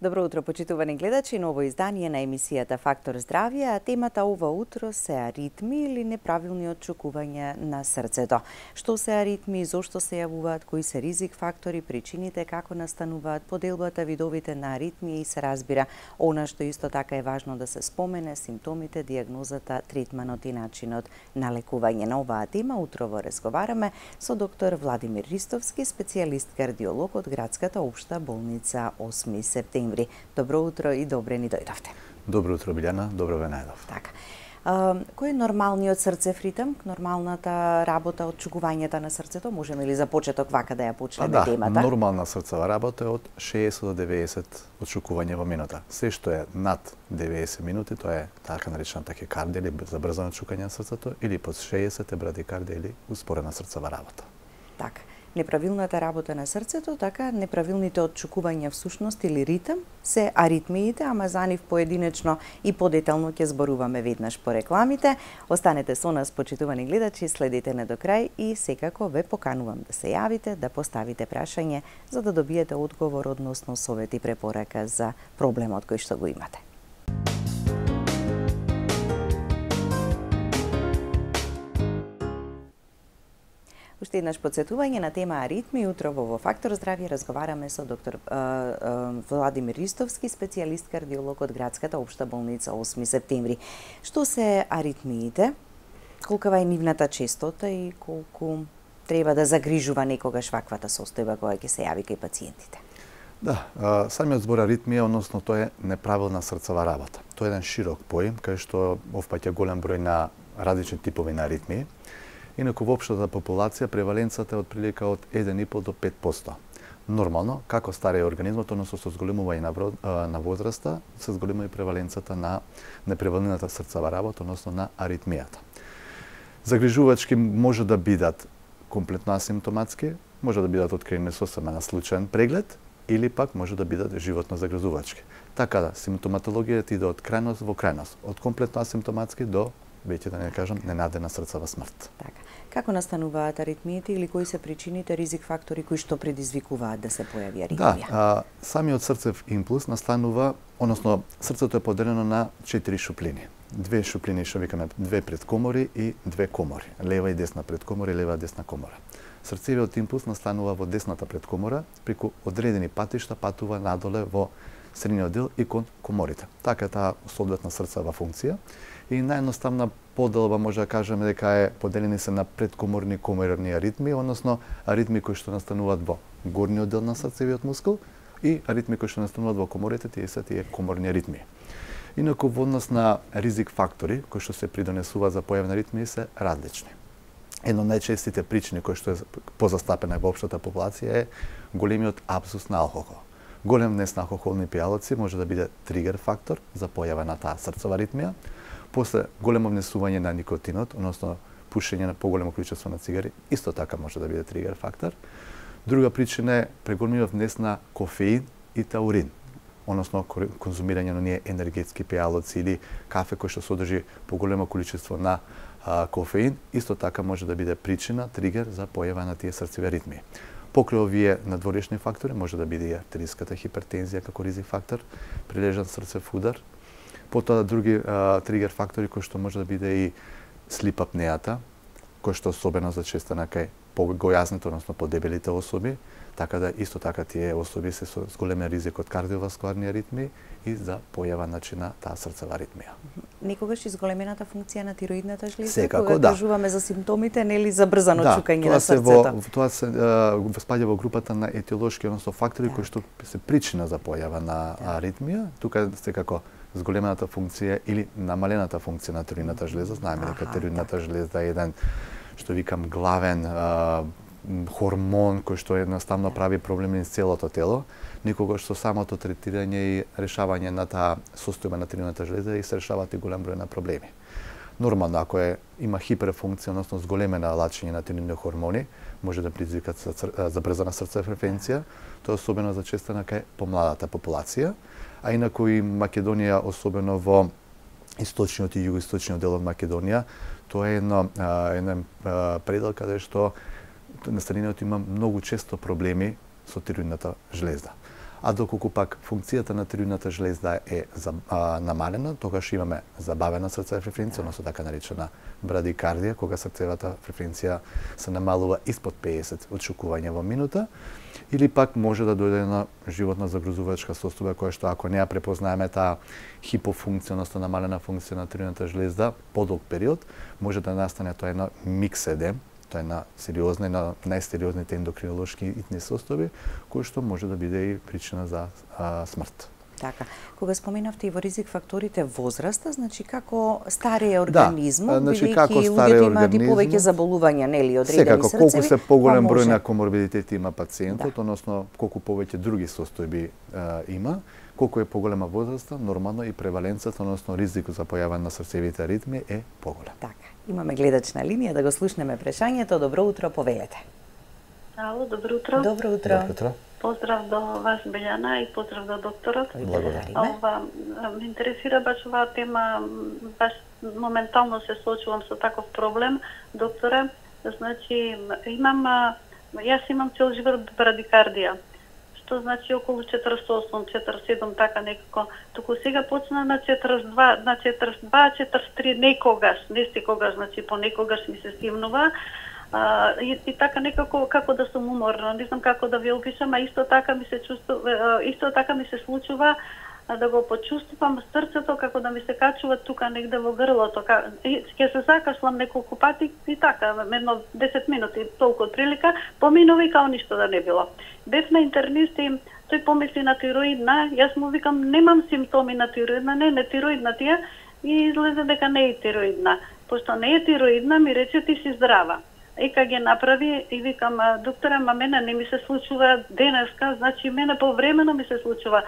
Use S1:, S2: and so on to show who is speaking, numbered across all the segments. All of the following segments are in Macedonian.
S1: Добро утро, почитувани гледачи, ново издание на емисијата Фактор здравје, а темата ова утро се аритми или неправилни отчукување на срцето. Што се аритми, зошто се јавуваат, кои се ризик фактори, причините, како настануваат, поделбата, видовите на аритмија и се разбира она што исто така е важно да се спомене, симптомите, дијагнозата, третманот и начинот на лекување. На оваа тема утрово разговараме со доктор Владимир Ристовски, специјалист кардиолог од Градската општа болница 8 септември. Добро утро и добре ни дојдовте.
S2: Добро утро, Билјана, добро ве најдов.
S1: Така. Кој е нормалниот срцев ритм, нормалната работа од чукувањето на срцето? Можеме ли за почеток вака да ја почнеме темата?
S2: Да, нормална срцева работа е од 60 до 90 отчукувања во минута. Се што е над 90 минути, тоа е така наречена тахикардија или забрзано чукање на срцето, или под 60 е брадикардија или успорена срцева работа.
S1: Така. Неправилната работа на срцето, така неправилните отчукувања всушност или ритм се аритмиите, ама за нив поединечно и подетално ќе зборуваме веднаш по рекламите. Останете со нас, почитувани гледачи, следите не до крај и секако ве поканувам да се јавите, да поставите прашање за да добиете одговор односно совет и препорака за проблемот кој што го имате. Уште еднаш подсетување на тема аритми. Утрово во Фактор здравје разговараме со доктор Владимир Ристовски, специјалист кардиолог од Градската општа болница 8 септември. Што се аритмиите? Колкава е нивната честота и колку треба да загрижува некогаш ваквата состојба која ќе се јави кај пациентите?
S2: Да, самиот збор аритмија, односно тоа е неправилна срцева работа. Тоа е еден широк поим кај што опфаќа голем број на различни типови на аритмии. Инаку во општата популација преваленцата е отприлика од 1,5 до 5%. Нормално, како старее организмот, односно со зголемување на возраста, се зголемува и преваленцата на неправилната срцева работа, односно на аритмијата. Загрижувачки може да бидат комплетно асимптоматски, може да бидат откриени со само на случаен преглед, или пак може да бидат животно загрижувачки. Така да, симптоматологијата иде од крајност во крајност, од комплетно асимптоматски до веќе да не кажам ненадена срцева смрт.
S1: Така. Како настануваат аритмиите или кои се причините, ризик фактори кои што предизвикуваат да се појави аритмија?
S2: Да, самиот срцев импулс настанува, односно срцето е поделено на 4 шуплини. Две шуплини што викаме две предкомори и две комори. Лева и десна предкомора и лева и десна комора. Срцевиот импулс настанува во десната предкомора, преку одредени патишта патува надоле во средниот дел и кон коморите. Така е таа соодветна срцева функција. И наједноставна поделба може да кажеме дека е поделени се на предкоморни и коморни аритми, односно аритми кои што настануваат во горниот дел на срцевиот мускул и аритми кои што настануваат во коморите, тие се тие коморни аритми. Инаку во однос на ризик фактори кои што се придонесуваат за појава на аритмии се различни. Едно од најчестите причини кои што е позастапена во општата популација е големиот апсус на алкохол. Голем внес на алкохолни пијалоци може да биде тригер фактор за појава на таа срцева аритмија. После големо внесување на никотинот, односно пушење на поголемо количество на цигари, исто така може да биде тригер фактор. Друга причина е преголемиот внес на кофеин и таурин, односно конзумирање на ние енергетски пијалоци или кафе кој што содржи поголемо количество на кофеин, исто така може да биде причина, тригер за појава на тие срцеви аритмии. Покрај овие надворешни фактори може да биде и артериската хипертензија како ризик фактор, прилежан срцев удар. Потоа други тригер фактори кои што може да биде и слип апнејата, кој што особено зачестена кај погојазните, односно подебелите особи, така да исто така тие особи се со голем ризик од кардиоваскуларни аритмии и за појава на таа срцева аритмија.
S1: Некогаш изголемената функција на тироидната жлеза,
S2: секако,
S1: кога кажуваме за симптомите, нели за брзано чукање на срцето?
S2: Тоа се спаѓа во групата на етиолошки, односно фактори кои што се причина за појава на аритмија. Тука секако зголемената функција или намалената функција на тироидната жлеза. Знаеме дека тироидната жлеза е еден, што викам, главен хормон кој што едноставно прави проблеми низ целото тело. Никогаш со самото третирање и решавање на таа состојба на тироидната жлеза и се решаваат и голем број на проблеми. Нормално, ако има хиперфункција, односно зголемена лачење на тироидни хормони, може да предизвикат забрзана срцева фреквенција. Тоа е особено зачестено кај помладата популација. А инаку и Македонија, особено во источниот и југоисточниот дел од Македонија, тоа е еден предел каде што настанениот има многу често проблеми со тироидната жлеза. А доколку пак функцијата на тироидната жлезда е намалена, тогаш имаме забавена срцева фреквенција, односно така наречена брадикардија, кога срцевата фреквенција се намалува испод 50 отшукувања во минута, или пак може да дојде на животна загрозувачка состојба која што ако не ја препознаеме таа хипофункција, односно намалена функција на тироидната жлезда подолг период, може да настане тоа една микседем, тоа е на сериозна и на најсериозните ендокринолошки итни состојби, кој што може да биде и причина за смрт.
S1: Така, кога споменавте и во ризик факторите возраста, значи како старее организмот, бидејќи луѓето имаат и повеќе заболувања, нели, одредени
S2: срцеви. Секако, колку се поголем број на коморбидитети има пациентот, односно колку повеќе други состојби има, колку е поголема возраста, нормално и преваленцата, односно ризикот за појава на срцевите аритми е поголем.
S1: Така, имаме гледач на линија, да го слушнеме прашањето. Добро утро, повелете.
S3: Ало, добро утро.
S1: Добро утро.
S2: Добро утро.
S3: Поздрав до вас, Белјана, и поздрав до докторот.
S1: Благодариме.
S3: Ме интересира баш оваа тема, баш моментално се соочувам со таков проблем, докторе. Значи, јас имам цел живот брадикардија, што значи околу 48-47, така некако. Туку сега почна на 42, на 43, некогаш, не секогаш, значи понекогаш ми се стимнува. И така некако како да сум уморна, не знам како да ви опишам, а исто така ми се случува да го почувствувам срцето како да ми се качува тука негде во грлото. Ќе се закашлам неколку пати и така, едно 10 минути, толку од прилика, поминува и као ништо да не било. Бев на интернист и тој помисли на тироидна, јас му викам немам симптоми на тироидна, не тироидна тие, и излезе дека не е тироидна. Пошто не е тироидна, ми рече ти си здрава. ЕКГ направи и викам, доктора, мене не ми се случува денеска, значи мене повремено ми се случува.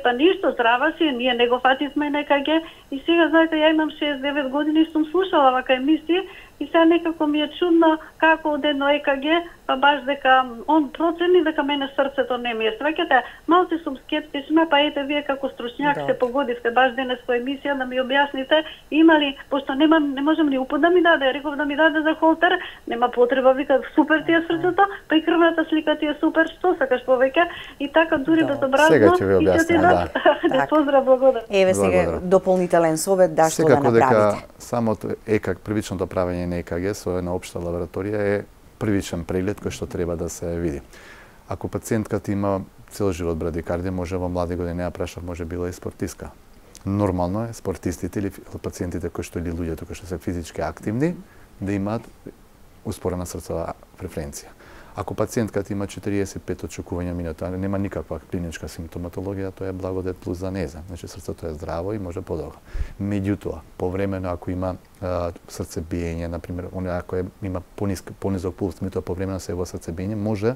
S3: Па ништо, здрава си, ние не го фативме на ЕКГ и сега, знаете, ја имам 69 години и сум слушала вака емисија и сега некако ми е чудно како од едно ЕКГ, па баш дека он процени дека мене срцето не ми е. Сваќате, малце сум скептична, па ете вие како стручњак се погодивте баш денес по емисија да ми објасните има ли, пошто не можам ни упут да ми даде, реков да ми даде за холтер, нема потреба, вика супер ти е срцето, па и крвната слика ти е супер, што сакаш повеќе и така дури безобразно. Да, поздрав, благодарам.
S1: Еве сега дополнителен совет да што да направите.
S2: Секако дека самото ЕКГ, првичното правење на ЕКГ со една општа лабораторија е првичен преглед кој што треба да се види. Ако пациентката има цел живот брадикардија, може во млади години, ја прашав, може била и спортистка. Нормално е спортистите или пациентите кои што или луѓето кои што се физички активни да имаат успорена срцова фреквенција. Ако пациентката има 45 отчукувања минута, нема никаква клиничка симптоматологија, тоа е благодет плюс за неза. Значи срцето е здраво и може подолго. Меѓутоа, повремено ако има срцебиење, например, ако има понизок пулс, меѓутоа повремено се во срцебиење, може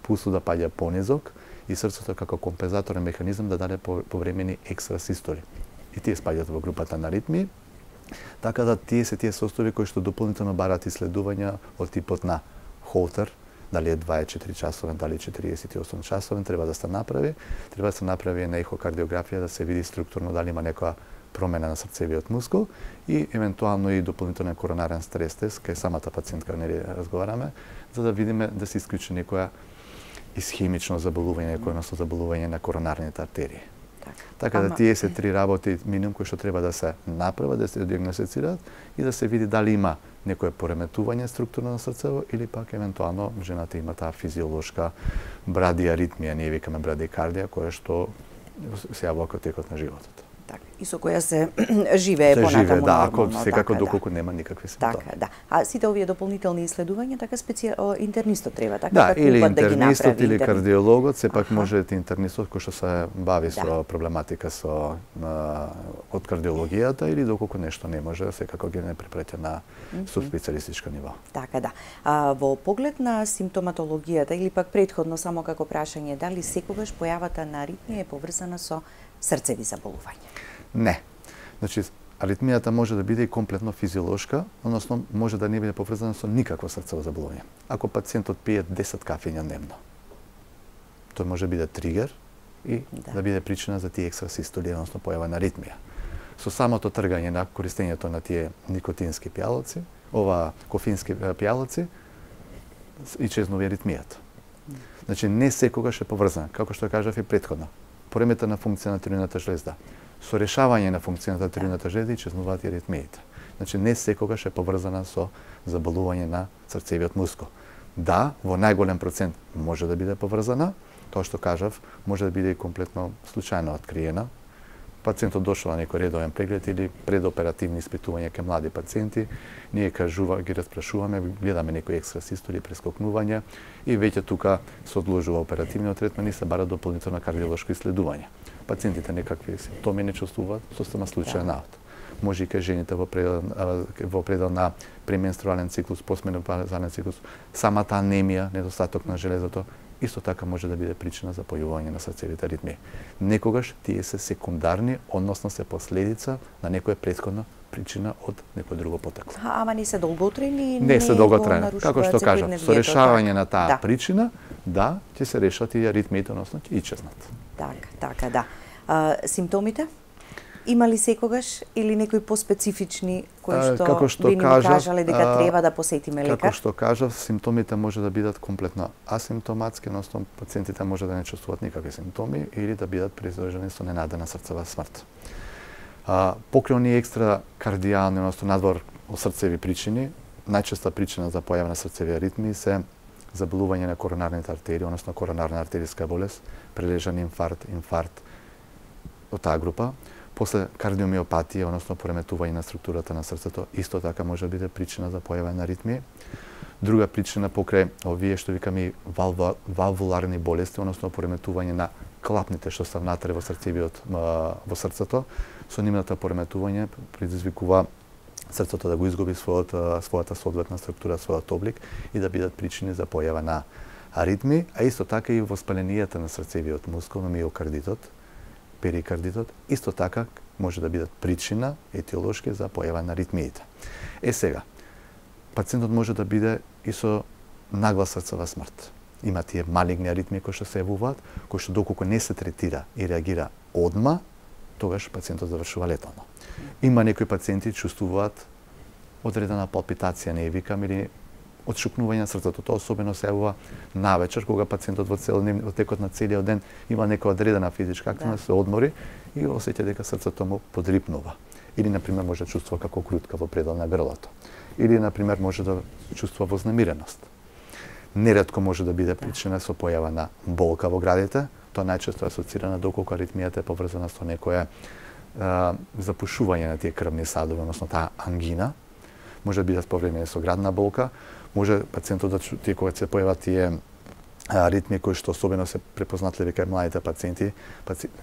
S2: пулсот да паѓа понизок и срцето како компензаторен механизам да даде повремени екстрасистоли. И тие спаѓаат во групата на аритмии, така да тие се тие состојби кои што дополнително бараат исследувања од типот на Холтер, дали е 24 часовен, дали 48 часовен, треба да се направи. Треба да се направи една ехокардиографија да се види структурно дали има некоја промена на срцевиот мускул и евентуално и дополнителен коронарен стрес тест, кај самата пациентка нели разговараме, за да видиме да се исклучи некоја исхемично заболување, некоја заболување на коронарните артерии. Така да тие се три работи минимум кои што треба да се направат, да се диагностицираат и да се види дали има некое пореметување структурно на срцево или пак евентуално жената има таа физиолошка брадиаритмија, ние викаме брадикардија, која што се јавува во текот на животот.
S1: Така, и со која се живее понатаму нормално.
S2: Да, ако секако доколку нема никакви симптоми.
S1: Така, да. А сите овие дополнителни исследувања така интернистот треба така
S2: да или интернистот или кардиологот, сепак може интернистот кој што се бави со проблематика со од кардиологијата или доколку нешто не може, секако ги не препреќа на субспецијалистичко ниво.
S1: Така да. Во поглед на симптоматологијата или пак претходно само како прашање, дали секогаш појавата на аритмија е поврзана со срцеви заболувања?
S2: Не. Значи, аритмијата може да биде и комплетно физиолошка, односно може да не биде поврзана со никакво срцево заболување. Ако пациентот пие 10 кафења дневно, тој може биде тригер и да биде причина за тие екстрасистоли, односно појава на аритмија. Со самото тргање на користењето на тие никотински пијалоци, кофински пијалоци, исчезнува аритмијата. Значи не секогаш е поврзана, како што кажав и претходно. Поремета на функција на тиреоидната жлезда. Со решавање на функцијата на тиреоидната жлезда исчезнуваат и аритмиите. Значи не секогаш е поврзана со заболување на срцевиот мускул. Да, во најголем процент може да биде поврзана, тоа што кажав, може да биде и комплетно случајно откриена. Пациентот дошол на некој редовен преглед или предоперативни испитувања кај млади пациенти, ние ги распрашуваме, гледаме некои екстрасистoli, прескокнувања и веќе тука се одложува оперативниот третман и се бара дополнително кардиолошко иследување. Пациентите некакви симптоми не чувствуваат, состава случајен наот. Може и кај жените во предел на пременструален циклус, постменопаузален циклус, самата анемија, недостаток на железото, исто така може да биде причина за појавување на срцевите аритмии. Некогаш тие се секундарни, односно се последица на некоја претходна причина од некој друго потекло.
S1: Ама не се долготрени?
S2: Не се долготрени. Како што кажав, со решавање на таа причина, да, ќе се решат и аритмиите, односно ќе ичезнат.
S1: Така, да. Симптомите? Има ли секогаш или некои поспецифични кои што би ни кажале дека треба да посетиме лекар?
S2: Како што кажав, симптомите може да бидат комплетно асимптоматски, односно пациентите може да не чувствуваат никакви симптоми или да бидат придружени со ненадена срцева смрт. Покрај оние екстра кардијални, односно надвор од срцеви причини, најчеста причина за појава на срцеви аритмии се заболување на коронарните артерии, односно коронарна артериска болест, прележан инфаркт од таа група. После кардиомиопатија, односно пореметување на структурата на срцето, исто така може да биде причина за појава на аритмии. Друга причина покрај овие што викаме валвуларни болести, односно пореметување на клапните што се внатре во во срцето, со нивната пореметување предизвикува срцето да го изгуби својата соодветна структура, својот облик и да бидат причини за појава на аритмии, а исто така и воспаленијата на срцевиот мускул, на миокардитот, перикардитот, исто така може да бидат причина етиолошки за појава на аритмиите. Сега, пациентот може да биде и со нагла срцева смрт. Има тие малигни аритмии кои што се јавуваат, кои што доколку не се третира и реагира одма, тогаш пациентот завршува летално. Има некои пациенти чувствуваат одредена палпитација, не викам, или отшукнување на срцето. Тоа особено се јавува навечер, кога пациентот во текот на целиот ден има некоја одредена физичка активност, се одмори и осеќа дека срцето му подрипнува. Или, например, може да чувствува како крутка во предел на грлото. Или, например, може да чувствува вознемиреност. Неретко може да биде причина со појава на болка во градите. Тоа најчесто е асоцирано доколку аритмијата е поврзана со некое запушување на тие крвни садови, односно таа ангина. Може да биде повремени со градна болка. Може пациентот да тие кога се појават тие аритмии кои што особено се препознатливи кај младите пациенти,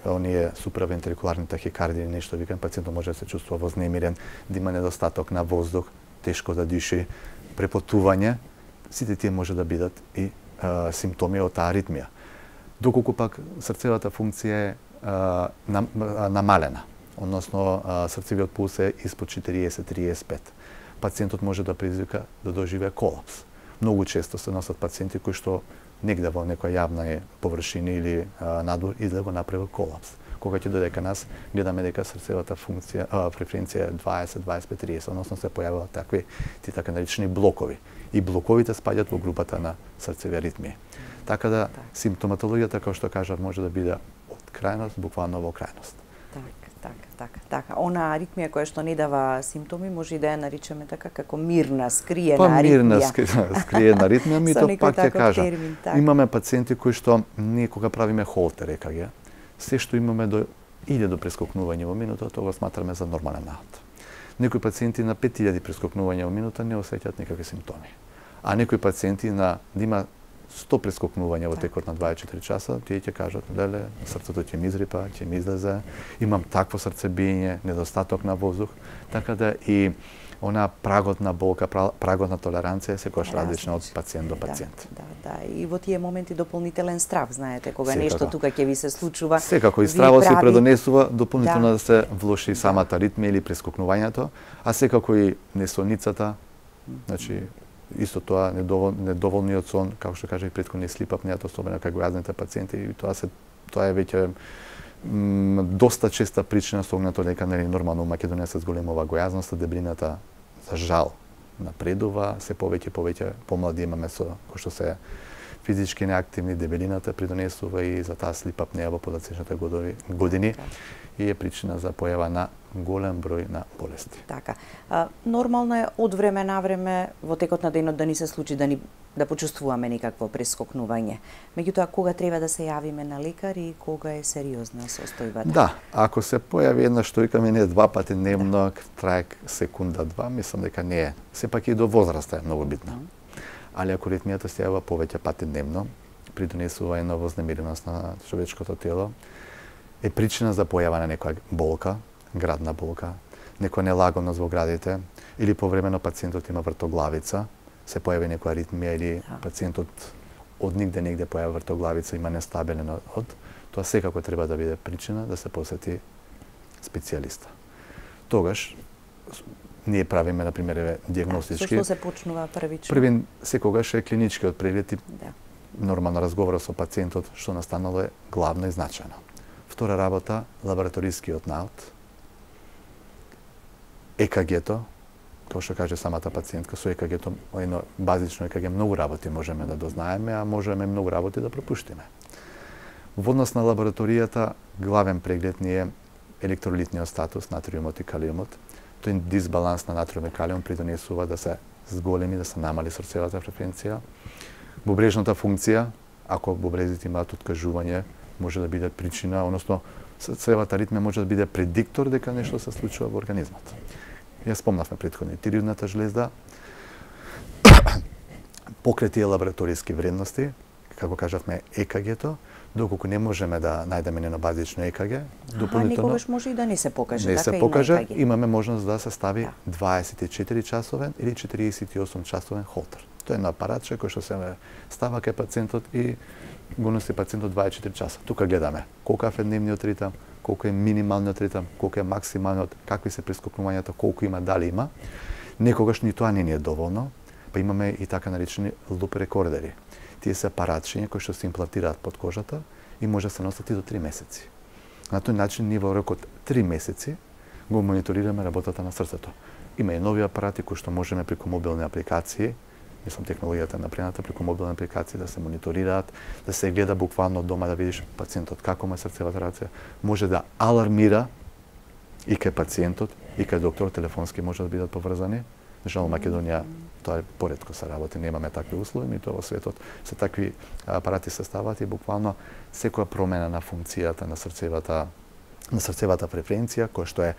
S2: оние суправентрикуларни тахикардии, нешто викам, пациентот може да се чувствува вознемирен, да има недостаток на воздух, тешко да диши, препотување, сите тие може да бидат и симптоми од таа аритмија. Доколку пак срцевата функција е намалена, односно срцевиот пулс е испод 40-35, пациентот може да предизвика да доживее колапс. Многу често се носат пациенти кои што негде во некоја јавна површина или надвор и да го направи колапс. Кога ќе дојде кај нас, гледаме дека срцевата функција, фреквенција е 20-25-30, односно се појавуваат такви ти така наречени блокови. И блоковите спаѓаат во групата на срцеви аритмии. Така да симптоматологијата, како што кажав, може да биде од крајност буквално во крајност.
S1: Така. Она аритмија која што не дава симптоми, може и да ја наричаме така како мирна, скриена аритмија.
S2: Мирна, скриена аритмија, ми тоа пак ќе кажам. Имаме пациенти кои што ние кога правиме холтер ЕКГ, се што имаме иде до прескокнување во минута, тоа го сматраме за нормален наот. Некои пациенти на 5000 прескокнувања во минута не осеќаат никакви симптоми. А некои пациенти да има 100 прескокнувања во текот на 24 часа, тие ќе кажат, леле, срцето ќе ми изрипа, ќе ми излезе, имам такво срцебиење, недостаток на воздух, така да и она прагот на болка, прагот на толеранција е секогаш различна од пациент до пациент.
S1: Да, и во тие моменти дополнителен страв, знаете, кога нешто тука ќе ви се случува.
S2: Секако и стравот се предонесува дополнително да се влоши самата аритмија или прескокнувањето, а секако и несоницата, значи исто тоа недоволниот сон, како што кажа и претходно слип апнејата, особено кај гојазните пациенти, и тоа е веќе доста честа причина со оглед дека нели нормално Македонија се зголемува гојазноста, дебелината за жал напредува, се повеќе помлади имаме со кои што се физички неактивни, дебелината придонесува и за таа слип апнеа во подоцнешните години и е причина за појава на голем број на болести.
S1: Така. Нормално е од време на време во текот на денот да ни се случи да почувствуваме некакво прескокнување. Меѓутоа, кога треба да се јавиме на лекар и кога е сериозна состојбата?
S2: Да, ако се појави една штојка мене 2 пати дневно, трае секунда-2, мислам дека не е. Сепак и до возраста е многу битна. Али ако аритмијата се јавува повеќе пати дневно, придонесува една вознемиреност на човечкото тело, е причина за појава на некоја болка, градна болка, некоја нелагодност во градите, или повремено пациентот има вртоглавица, се појави некоја аритмија или пациентот од негде појави вртоглавица, има нестабилен од, тоа секако треба да биде причина да се посети специјалиста. Тогаш ние правиме, например, диагностички.
S1: Со што се почнува првично?
S2: Првин секогаш е клиничкиот преглед и нормално разговор со пациентот што настанало е главно и значајно. Втора работа, лабораторискиот наут, ЕКГ-то, како што каже самата пациентка, со ЕКГ-то, едно базично ЕКГ, многу работи можеме да дознаеме, а можеме многу работи да пропуштиме. Во однос на лабораторијата, главен преглед ни е електролитниот статус, натриумот и калиумот. Тој дисбаланс на натриум и калиум придонесува да се зголеми, да се намали срцевата фреквенција. Бубрежната функција, ако бубрезите имаат откажување, може да биде причина, односно срцевата ритмија може да биде предиктор дека нешто се случува во организмот. Ја спомнавме претходно тиреоидната жлезда, покрај тие лабораториски вредности, како кажавме ЕКГ-то, доколку не можеме да најдеме нено базично ЕКГ, дополнително
S1: некогаш може и да не се покаже,
S2: не
S1: така
S2: се покаже, имаме можност да се стави 24 часовен или 48 часовен холтер. Тоа е едно апаратче кој што се става кај пациентот и го носи пациентот 24 часа. Тука гледаме колку е дневниот ритам, колку е минималниот ритам, колку е максималниот, какви се прескокнувањата, колку има, дали има. Некогаш ни тоа не ни е доволно, па имаме и така наречени луп рекордери. Тие се апаратчиња кои што се имплантираат под кожата и може да се носат и до 3 месеци. На тој начин ние во рок од 3 месеци го мониторираме работата на срцето. Има и нови апарати кои што можеме преку мобилни апликации, мислам технологијата е напредната, преку мобилни апликации да се мониторираат, да се гледа буквално од дома да видиш пациентот како му е срцевата реакција, може да алармира и кај пациентот и кај доктор, телефонски може да бидат поврзани. Жал Македонија тоа е поретко се работи, немаме такви услови, ми тоа во светот се такви апарати се стават и буквално секоја промена на функцијата на срцевата фреквенција, која што е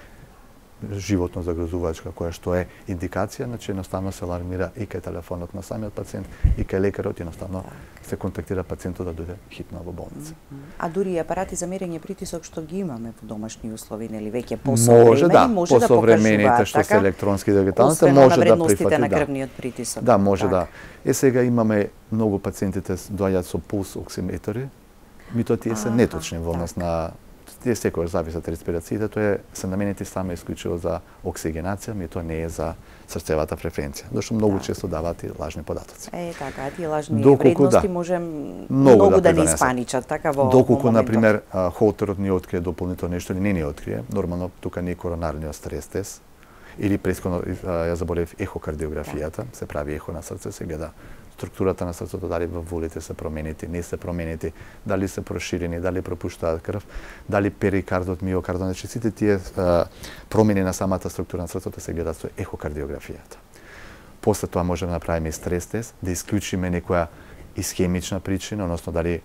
S2: животно загрозувачка, која што е индикација, значи едноставно се алармира и кај телефонот на самиот пациент и кај лекарот, едноставно се контактира пациентот да дојде хитно во болница.
S1: А дури и апарати за мерење притисок што ги имаме во домашни услови, нели веќе посовремени, може да покажуваат,
S2: што се електронски дигитални,
S1: може да прифати на крвниот притисок.
S2: Да, може да. Сега имаме многу пациентите доаѓаат со пулс оксиметри, меѓутоа тие се неточни во однос на тие секојаш зависат респирациите, тоа се наменети само исклучиво за оксигенација, меѓутоа не е за срцевата фреквенција, зашто многу често даваат и лажни податоци.
S1: Така, тие лажни вредности може многу да не испаничат, така во
S2: доколку на пример холтерот ни открие дополнително нешто или не ни открие, нормално тука не е коронарниот стрес тест или претходно ја заборев ехокардиографијата, се прави ехо на срце, се гледа структурата на срцето, дали вовулите се променети, не се променети, дали се проширени, дали пропуштаат крв, дали перикардот, миокардот, значи сите тие промени на самата структура на срцето се гледаат со ехокардиографијата. После тоа можеме да направиме стрес тест, да исклучиме некоја исхемична причина, односно дали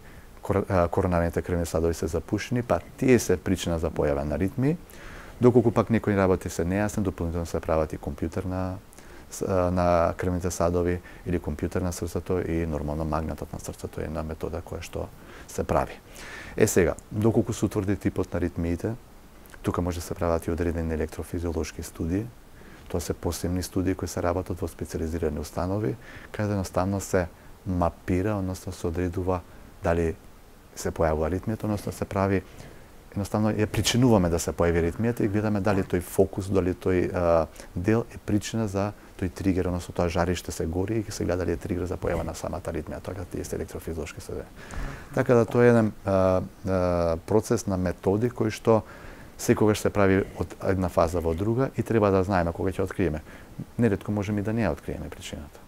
S2: коронарните крвни сладови се запушени, па тие се причина за појава на аритмии. Доколку пак некои работи се нејасни, дополнително се прават и компјутер на крвните садови или компјутер на срцето и нормално магнетот на срцето е една метода која што се прави. Сега, доколку се утврди типот на аритмиите, тука може да се прават и одредени електрофизиолошки студии. Тоа се посебни студии кои се работат во специализирани установи, каде едноставно се мапира, односно се одредува дали се појавува аритмијата, односно се прави едноставно ја причинуваме да се појави аритмијата и гледаме дали тој фокус, дали тој дел е причина за тој тригер, односно тоа жариште се гори и се гледа дали е тригер за појава на самата аритмија, тоа тие се електрофизиолошки се. Така да тоа е еден процес на методи кој што секогаш се прави од една фаза во друга и треба да знаеме кога ќе откриеме. Неретко можеме и да не ја откриеме причината.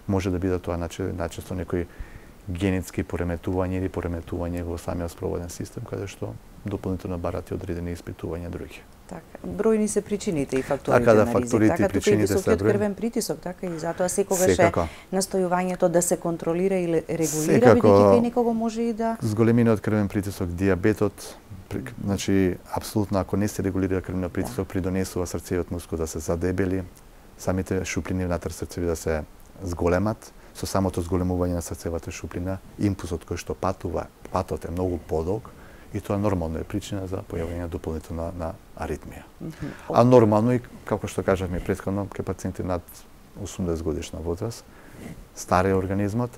S2: Може да биде тоа начесто некои генетски пореметување или пореметување во самиот спроводен систем, каде што дополнително барат и одредени испитувања други.
S1: Така, бројни се причините и факторите
S2: така,
S1: на ризик.
S2: Факторите и причините се
S1: високиот крвен притисок, така и затоа секогаш е настојувањето да се контролира или регулира, бидејќи кај некого може и да
S2: зголемениот крвен притисок, дијабетот, значи апсолутно ако не се регулира крвниот притисок, придонесува срцевиот мускул да се задебели, самите шуплини внатре срцеви да се зголемат. Со самото зголемување на срцевата шуплина, импулсот кој што патот е многу подолг и тоа нормално е причина за појавување дополнително на аритмија. А нормално и, како што кажавме претходно, кај пациенти над 80 годишна возраст, стар е организмот,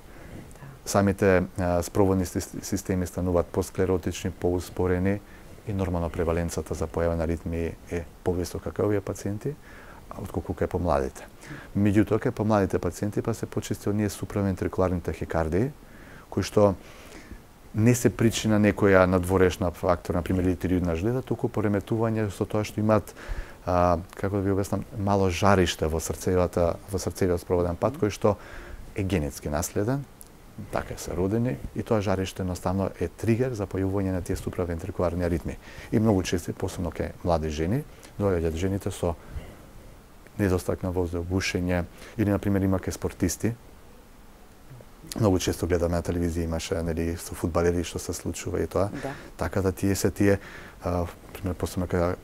S2: самите спроводни системи стануваат посклеротични, поуспорени и нормално преваленцата за појава на аритмии е повисока кај овие пациенти, отколку кај помладите. Меѓутоа, кај помладите пациенти па се почести оние суправентрикуларни тахикардии, кои што не се причина некоја надворешна фактор, например тиреоидна жлеза, туку пореметување со тоа што имаат, како да ви обяснам, мало жариште во срцевиот спроводен пат, кој што е генетски наследен, така се родени, и тоа жариште едноставно е тригер за појавување на тие суправентрикуларни аритмии. И многу често, посебно кај млади жени, доаѓаат жените со недостаток на воздух, бушење, или, например, има кај спортисти. Многу често гледаме на телевизија, имаше, нели, со фудбалери што се случува и тоа.
S1: Да.
S2: Така да тие, пример, посебно кај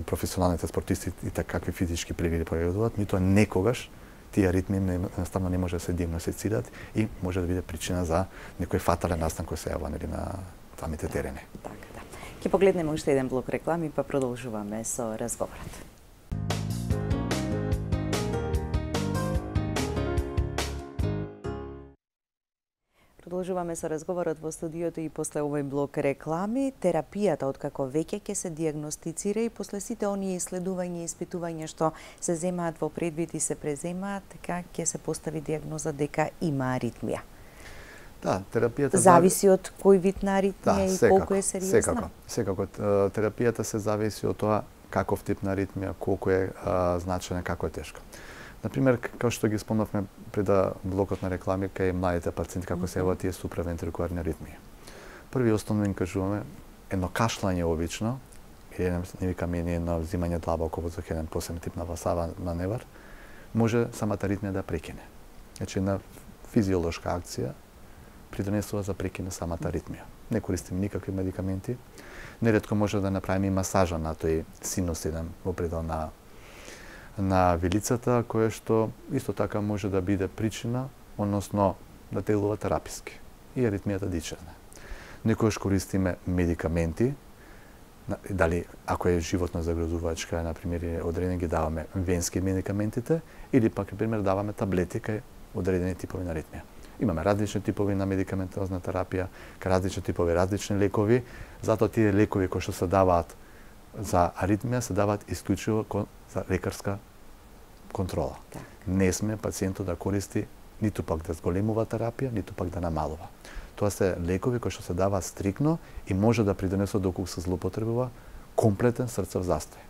S2: професионалните спортисти и какви физички превиди пројавуваат, меѓутоа некогаш тие аритмии едноставно не може да се диагностицираат и може да биде причина за некој фатален настан кој се јавува, нели, на самите терени.
S1: Така, да. Ќе погледнеме уште еден блок реклами, па продолжуваме со разговорот. Продолжуваме со разговорот во студиото и после овој блок реклами. Терапијата, откако веќе ќе се диагностицира и после сите оние исследувања и испитувања што се земаат во предвид и се преземаат, така ќе се постави диагноза дека има аритмија.
S2: Да, терапијата
S1: зависи од кој вид на аритмија и колку е сериозна.
S2: Секако. Терапијата се зависи од тоа каков тип на аритмија, колку е значена, како е тешка. Например, како што ги спомнавме пред блокот на реклами, кај младите пациенти како се јавуваат тие суправентрикуларни аритмии. Први основно им кажуваме едно кашлање обично, или не викаме едно взимање длабоко воздух, еден посебен тип на васава маневар, може самата аритмија да прекине. Значи една физиолошка акција придонесува за прекине самата аритмија. Не користиме никакви медикаменти. Неретко може да направиме и масажа на тој синус еден во предел на вилицата, која што исто така може да биде причина, односно да делува тераписки и аритмијата да исчезне. Некогаш користиме медикаменти, дали ако е животно загрозувачка, например, одредени ги даваме венски медикаментите, или пак, например, даваме таблети кај одредени типови на аритмија. Имаме различни типови на медикаментозна терапија, различни типови, различни лекови, затоа тие лекови кои што се даваат за аритмија се даваат исклучиво за лекарска контрола.
S1: Так.
S2: Не сме пациентот да користи ниту пак да зголемува терапија, ниту пак да намалува. Тоа се лекови кои што се даваат стрикно и може да придонесат доколку се злоупотребува комплетен срцев застој.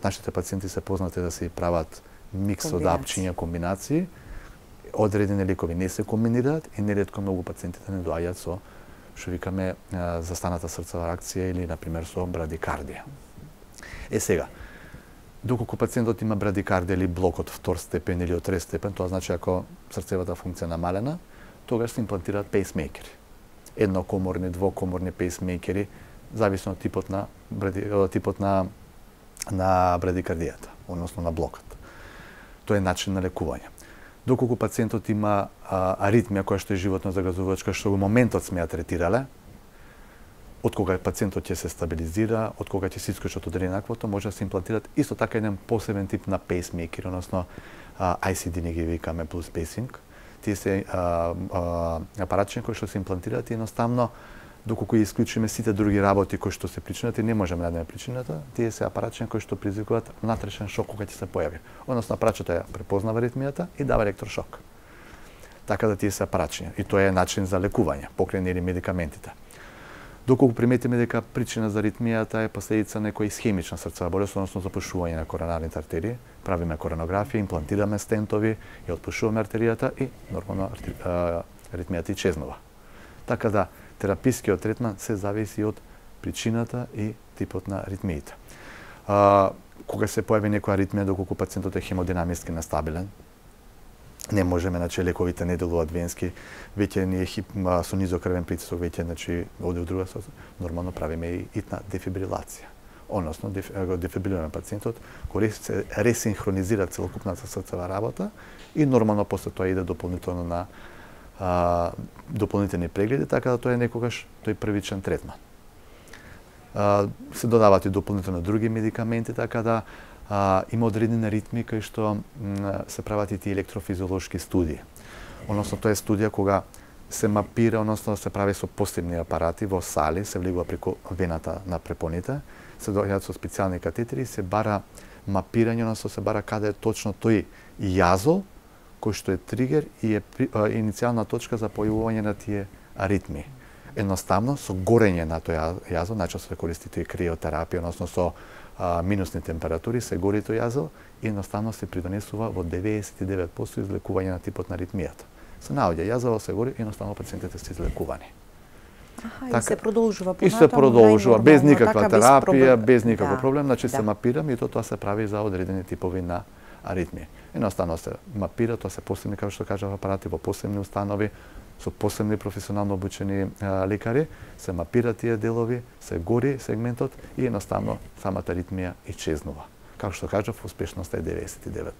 S2: Нашите пациенти се познати да се прават микс од апчиња, комбинации. Одредени лекови не се комбинираат и неретко многу пациентите не доаѓаат со што викаме застаната срцева реакција или например со брадикардија. Сега, доколку пациентот има брадикардија или блок од втор степен или од трет степен, тоа значи ако срцевата функција намалена, тогаш се имплантираат пейсмейкери. Еднокоморни, двокоморни пейсмейкери, зависно од типот на брадикардијата, односно на блокот. Тоа е начин на лекување. Доколку пациентот има аритмија која што е животно загрозувачка, што во моментот сме ја третирале, од кога пациентот ќе се стабилизира, од кога ќе се исклучи од одреденаквото, може да се имплантираат исто така еден посебен тип на пейсмейкер, односно ICD не ги викаме плюс пейсинг. Тие се апаратчиња кои што се имплантираат и едноставно доколку исклучиме сите други работи кои што се причината и не можеме да најдеме причината, тие се апаратчиња кои што предизвикуваат внатрешен шок кога ќе се појави. Односно апаратчето ја препознава аритмијата и дава електрошок. Така да тие се апаратчиња и тоа е начин за лекување, покрај нели медикаментите. Доколку приметиме дека причина за аритмијата е последица некоја исхемична срцева болест, односно запушување на коронарните артерии, правиме коронографија, имплантираме стентови и отпушуваме артеријата и нормално аритмијата исчезнува. Така да терапискиот третман се зависи од причината и типот на аритмиите. Кога се појави некоја аритмија, доколку пациентот е хемодинамиски нестабилен, не можеме, значи лековите не делуваат венски, веќе ние со низок крвен притисок веќе, значи оде од друга страна, нормално правиме и итна дефибрилација. Односно, дефибрилираме пациентот, кој се ресинхронизира целокупната срцева работа и нормално после тоа иде дополнително на дополнителни прегледи, така да тоа е некогаш тој првичен третман. Се додават и дополнително други медикаменти, така да има одредени ритми кај што се прават и тие електрофизиолошки студии. Односно, тоа е студија кога се мапира, односно се прави со посебни апарати во сали, се влегува преку вената на препоните, се доаѓаат со специјални катетери, се бара мапирање, односно се бара каде е точно тој јазол, кој што е тригер и е иницијална точка за појавување на тие аритми. Едноставно, со горење на тој јазол, најчесто се користи тој криотерапија, односно со минусни температури, се гори тој јазол и едноставно се придонесува во 99% излекување на типот на аритмијата. Се наоѓа јазол, се гори и едноставно пациентите се излекувани.
S1: И се продолжува понатаму.
S2: И се продолжува без никаква терапија, без никаков проблем, значи се мапира и тоа се прави за одредени типови на аритмија. Едноставно се мапира, тоа се посебни, како што кажав, апарати во посебни установи, со посебни професионално обучени лекари, се мапира тие делови, се гори сегментот и едноставно самата аритмија исчезнува. Како што кажав, успешноста е 99%.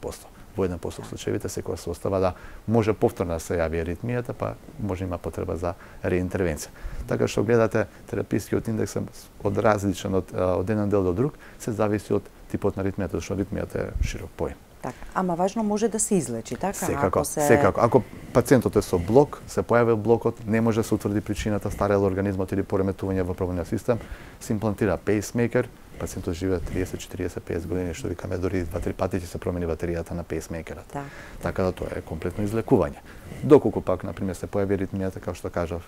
S2: Во 1% случаевите секогаш се остава да може повторно да се јави аритмијата, па може има потреба за реинтервенција. Така што гледате, терапискиот индекс од различен од еден дел до друг, се зависи од типот на аритмијата, зашто аритмијата е широк поим.
S1: Така, ама важно може да се излечи, така?
S2: Секако, секако. Ако пациентот е со блок, се појавил блокот, не може да се утврди причината, старел организмот или пореметување во пробавниот систем, се имплантира пейсмейкер, пациентот живее 30, 40, 50 години, што викаме дури 2-3 пати ќе се промени батеријата на пейсмейкерот. Така да тоа е комплетно излекување. Доколку пак, например, се појави аритмијата, како што кажав,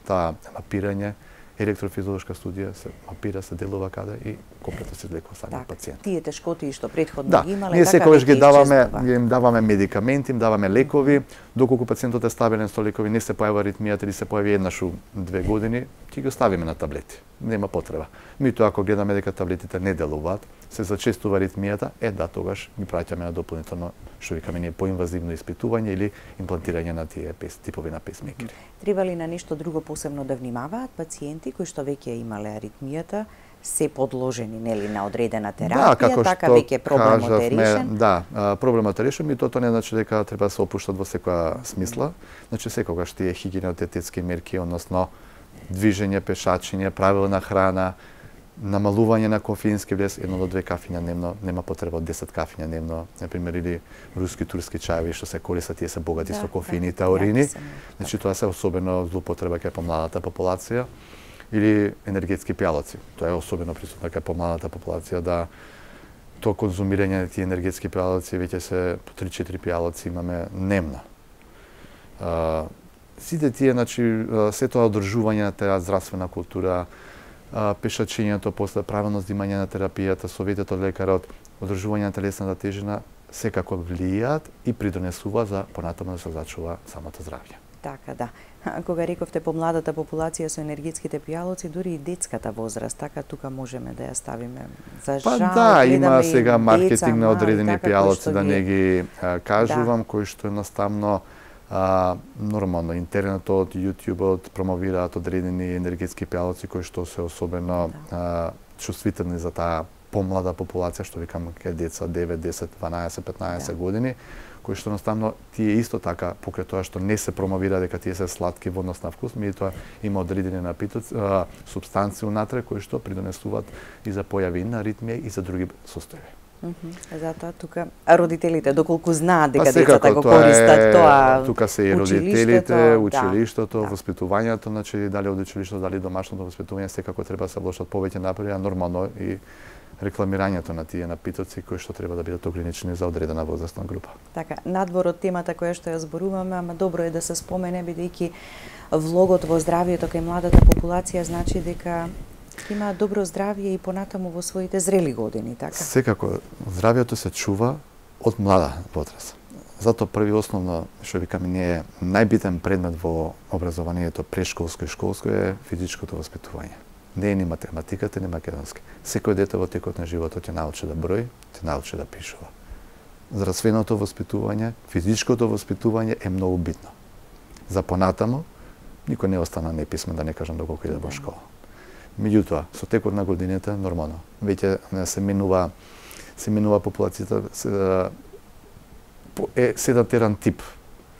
S2: таа мапирање, електрофизиолошка студија се мапира, се делува каде и комплетно се излекува самиот пациент.
S1: Тие тешкоти што претходно ги имале,
S2: ние секогаш ги даваме, им даваме медикаменти, им даваме лекови, доколку пациентот е стабилен со лекови, не се појава аритмијата или се појави еднаш у 2 години, ќе ги оставиме на таблети. Нема потреба. Меѓутоа, ако гледаме дека таблетите не делуваат, се зачестува аритмијата, тогаш ги праќаме на дополнително, што викаме ние, поинвазивно испитување или имплантирање на тие типови на пейсмейкери.
S1: Треба ли на нешто друго посебно да внимаваат пациенти кои што веќе имале аритмијата, се подложени нели на одредена терапија, така веќе проблемот е решен?
S2: Да, проблемот е решен и тоа не значи дека треба да се опуштат во секоја смисла. Значи секогаш тие хигиенотетски мерки, односно движење, пешачење, правилна храна, намалување на кофеински влез, 1 до 2 кафиња дневно, нема потреба од 10 кафиња дневно, например, или руски, турски чаеви што се користат, тие се богати со кофеин и таурини. Значи тоа се особено злоупотреба кај помладата популација, или енергетски пијалоци. Тоа е особено присутно кај помладата популација, да тоа конзумирање на тие енергетски пијалоци, веќе се по 3-4 пијалоци имаме дневно. Сите тие, значи, се тоа одржување на таа здравствена култура, пешачењето, после правилно здимање на терапијата, советот од лекарот, одржување на телесната тежина, секако влијаат и придонесува за понатаму да се зачува самото здравје.
S1: Така, да. Кога рековте помладата популација со енергетските пијалоци, дури и детската возраст, така тука можеме да ја ставиме за жал.
S2: Па да, има сега маркетинг на одредени пијалоци, да не ги кажувам, кои што едноставно нормално интернетот, јутјубот промовираат одредени енергетски пијалоци кои што се особено чувствителни за таа помлада популација, што викам кај деца 9, 10, 12, 15 години, кои што едноставно тие исто така покрај тоа што не се промовира дека тие се сладки во однос на вкус, меѓутоа има одредени напитоци, супстанции унатре кои што придонесуваат и за појави на аритмија и за други состојби.
S1: Затоа тука родителите доколку знаат дека децата го користат тоа,
S2: тука се и родителите, училиштето, воспитувањето, значи дали од училиштето, дали домашното воспитување, секако треба да се вложат повеќе напори, а нормално и рекламирањето на тие напитоци кои што треба да бидат ограничени за одредена возрастна група. Така,
S1: надвор од темата која што ја зборуваме, ама добро е да се спомене бидејќи влогот во здравието кај младата популација значи дека има добро здравје и понатаму во своите зрели години, така?
S2: Секако, здравието се чува од млада возраст. Затоа први основно што викаме ние најбитен предмет во образованието прешколско и школско е физичкото воспитување. Не е ни математиката, ни македонски. Секој дете во текот на животот ќе научи да брои, ќе научи да пишува. Здравственото воспитување, физичкото воспитување е многу битно. За понатамо, никој не остана неписмен, да не кажам доколку иде во школа. Меѓутоа, со текот на годините, нормално, веќе се менува популацијата, седат еден тип.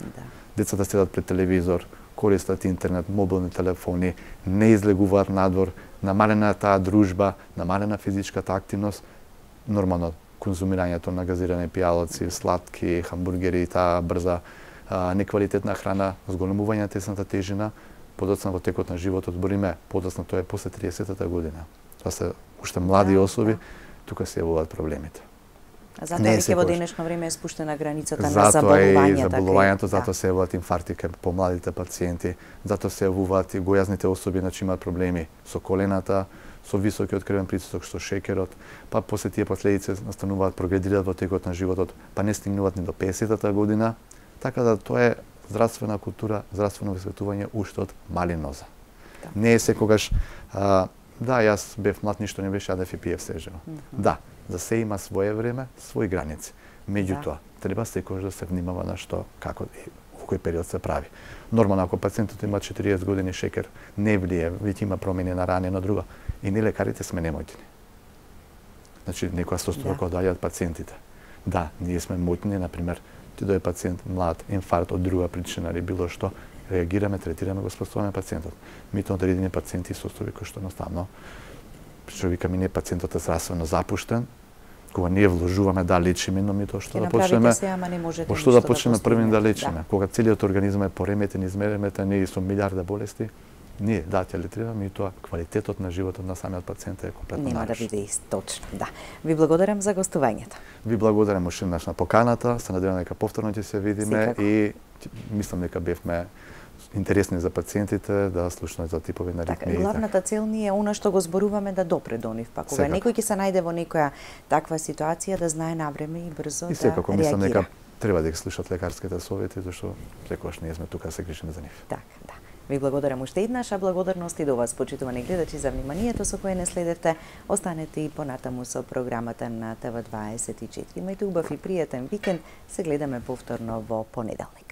S1: Да.
S2: Децата седат пред телевизор, користат интернет, мобилни телефони, не излегуваат надвор, намалена таа дружба, намалена физичката активност, нормално конзумирањето на газирани пијалаци, сладки, хамбургери, таа брза, неквалитетна храна, зголемување на тесната тежина, подоцна во текот на животот, збориме, подоцна тоа е после 30-та година. Тоа се уште млади особи, тука се јавуваат проблемите.
S1: А затоа веќе во денешно време е спуштена границата на заболувањата.
S2: Заболувањето, затоа се јавуваат инфаркти кај помладите пациенти, затоа се јавуваат и гојазните особи, значи имаат проблеми со колената, со високиот крвен притисок, со шекерот, па после тие последици настануваат, прогредираат во текот на животот, па не стигнуваат ни до 50-та година, така да тоа е здравствена култура, здравствено воспитување уште од мали ноза. Да. Не е секогаш, да, јас бев млад, ништо не беше, јадев и пиев сежево. Да, за се има свое време, своји граници. Меѓутоа, треба секогаш да се внимава на што, како и во кој период се прави. Нормално, ако пациентот има 40 години шекер, не влие, веќе има промени на рана и на друго, и ние лекарите сме немотини. Значи, некоја состојба кога доаѓаат пациентите. Да, ние сме моќни, например, ти дојде пациент млад, инфаркт од друга причина или било што, реагираме, третираме, го спасуваме пациентот. Меѓутоа, одредени пациенти состојби кои што едноставно, што викаме ние, пациентот е здравствено запуштен, кога ние вложуваме да лечиме, но ми тоа што да почнеме, во што да почнеме први да лечиме. Кога целиот организам е пореметен, измереметен и со милиарда болести, ние да ќе летрираме и тоа квалитетот на животот на самиот пациент е комплетно нарушен.
S1: Нема да биде ист, точно, да. Ви благодарам за гостувањето.
S2: Ви благодарам уште еднаш на поканата, се надевам дека повторно ќе се видиме и мислам дека бевме интересни за пациентите да слушнат за типови на ритми.
S1: Така, главната цел ни е она што го зборуваме да допре до нив, па кога некој ќе се најде во некоја таква ситуација да знае навреме и брзо да реагира. И секако мислам дека треба да ги слушат лекарските совети, зашто секогаш ние сме тука да се грижиме за нив. Така, да. Ви благодарам уште еднаш, а благодарност и до вас, почитувани гледачи, за вниманието со кое не следевте. Останете и понатаму со програмата на ТВ24. Имајте убав и пријатен викенд. Се гледаме повторно во понеделник.